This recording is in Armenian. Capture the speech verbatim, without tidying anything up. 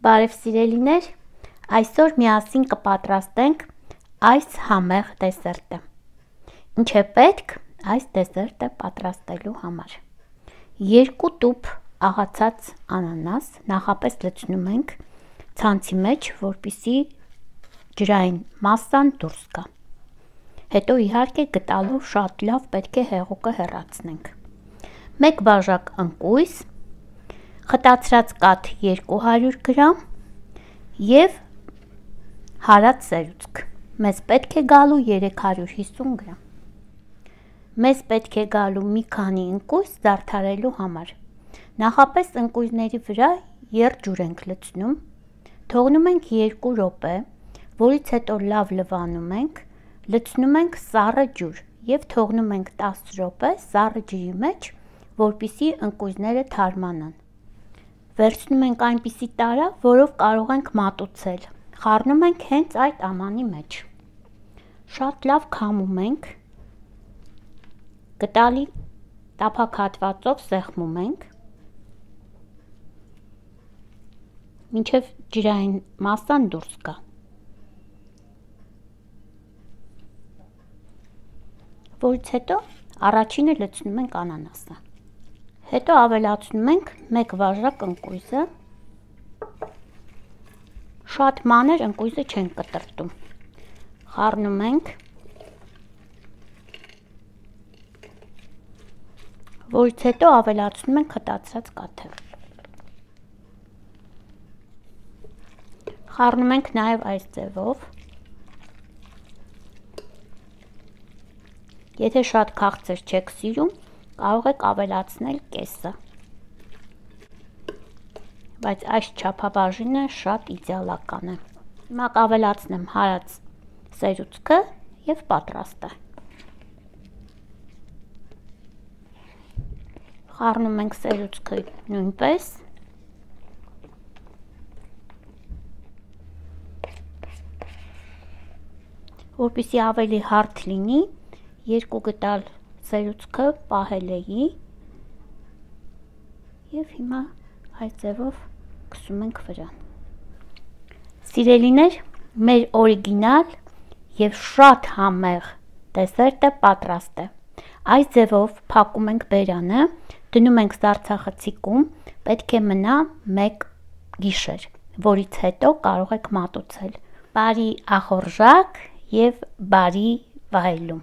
Բարև սիրելիներ, այսօր միասին կպատրաստենք այս համեղ դեսերտը։ Ինչ է պետք այս դեսերտը պատրաստելու համար։ Երկու տուփ աղացած անանաս նախապես լցնում ենք ցանցի մեջ, որպեսզի ջրային մասսան դուրս գա։ Հետո իհարկե գտալով շատ լավ պետք է հեղուկը հեռացնենք։ Մեկ բաժակ ընկույզ, խտացրած կաթ երկու հարյուր գրամ և հարած սերուցք։ Մեզ պետք է գալու երեք հարյուր հիսուն գրամ։ Մեզ պետք է գալու մի քանի ընկույզ զարդարելու համար։ Նախապես ընկույզների վրա եռջուր ենք լցնում, թողնում ենք երկու րոպե, որից հետո լավ լվանում ենք, լցնում ենք սառը ջուր և թողնում ենք տասը րոպե սառը ջրի մեջ, որպեսզի ընկույզները թարմանան։ Վերցնում ենք այնպիսի տարա, որով կարող ենք մատուցել, խառնում ենք հենց այդ ամանի մեջ։ Շատ լավ քամում ենք, գտալի տափակ սեղմում ենք, մինչև ջրային մասսան դուրս գա։ Որից հետո առաջինը լցնում ենք անանասը։ Հետո ավելացնում ենք մեկ բաժակ ընկույզը, շատ մանր ընկույզը չենք կտրտում, խառնում ենք, որից հետո ավելացնում ենք խտացրած կաթը։ Խառնում ենք նաև այս ձևով։ Եթե շատ քաղցր չեք սիրում, կարող եք ավելացնել կեսը, բայց այս չափաբաժինը շատ իդեալական է։ Հիմա կավելացնեմ հարած սերուցքը և պատրաստ է։ Խառնում ենք սերուցքը նույնպես։ Որպեսզի ավելի հարթ լինի, երկու գտալ սերուցքը պահել էի և հիմա այս ձևով քսում ենք վրան։ Սիրելիներ, մեր օրիգինալ և շատ համեղ դեսերտը պատրաստ է։ Այս ձևով փակում ենք բերանը, դնում ենք սառցախցիկում, պետք է մնա մեկ գիշեր, որից հետո կարող եք մատուցել։ Բարի ախորժակ և բարի վայելում։